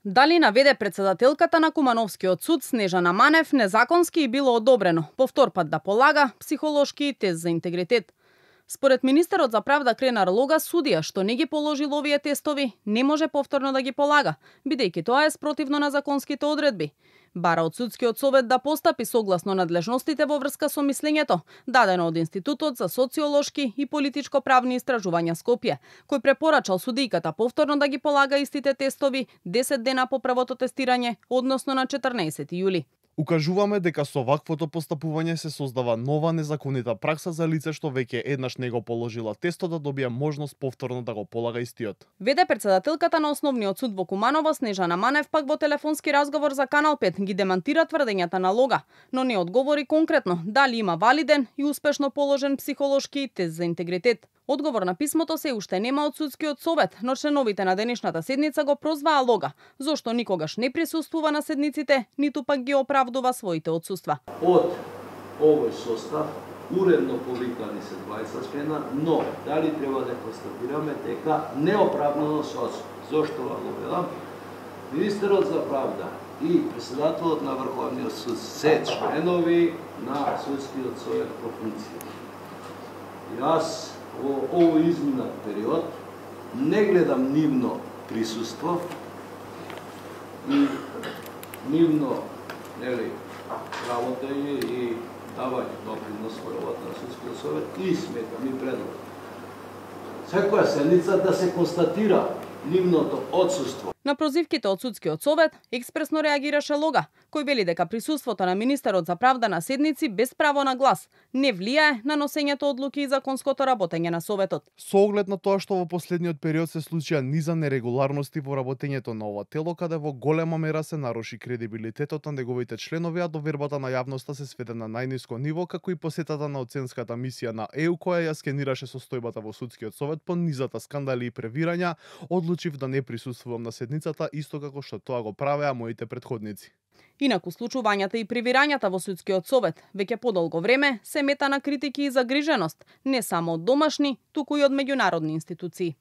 Дали наведе председателката на Кумановскиот суд Снежана Манев незаконски и било одобрено повтор пат да полага психолошки тест за интегритет. Според министерот за правда Кренар Лога, судија што не ги положил овие тестови не може повторно да ги полага, бидејќи тоа е спротивно на законските одредби. Бара од судскиот совет да постапи согласно надлежностите во врска со мислењето дадено од Институтот за социолошки и политичко-правни истражувања Скопје, кој препорачал судијката повторно да ги полага истите тестови 10 дена по првото тестирање, односно на 14 јули. Укажуваме дека со ваквото постапување се создава нова незаконита пракса за лице што веќе еднаш не го положила тестот да добие можност повторно да го полага истиот. Веде председателката на Основниот суд во Куманово Снежана Манев пак во телефонски разговор за Канал 5 ги демантира тврдењата на Лога, но не одговори конкретно дали има валиден и успешно положен психолошки тест за интегритет. Одговор на писмото се уште нема од судскиот совет, но членовите на денешната седница го прозваа Лога, зошто никогаш не присуствува на седниците, ниту пак ги оправдува своите отсуства. Од овој состав уредно повикани се 20 члена, но дали треба да констатираме дека неоправдано се отсутства. Зошто го велам? Министерот за правда и председателот на Врховниот суд се членови на судскиот совет по функција. Јас во овој изминат период не гледам нивно присуство и нивно работење и давање допринос во работа на судскиот совет и сметам и предлог. Секоја седница да се констатира нивното отсуство. На прозивките од судскиот совет експресно реагираше Лога, кој вели дека присуството на министерот за правда на седници без право на глас не влијае на носењето одлуки и законското работење на советот. Со оглед на тоа што во последниот период се случија низа нерегуларности во работењето на ова тело, каде во голема мера се наруши кредибилитетот на неговите членови, а довербата на јавноста се сведе на најниско ниво, како и посетата на оценската мисија на ЕУ која ја скенираше состојбата во судскиот совет по низата скандали и превирања, одлучив да не присуствувам на седницата, исто како што тоа го правеа моите претходници. Инаку случувањата и превирањата во судскиот совет веќе подолго време се мета на критики и загриженост, не само од домашни, туку и од меѓународни институции.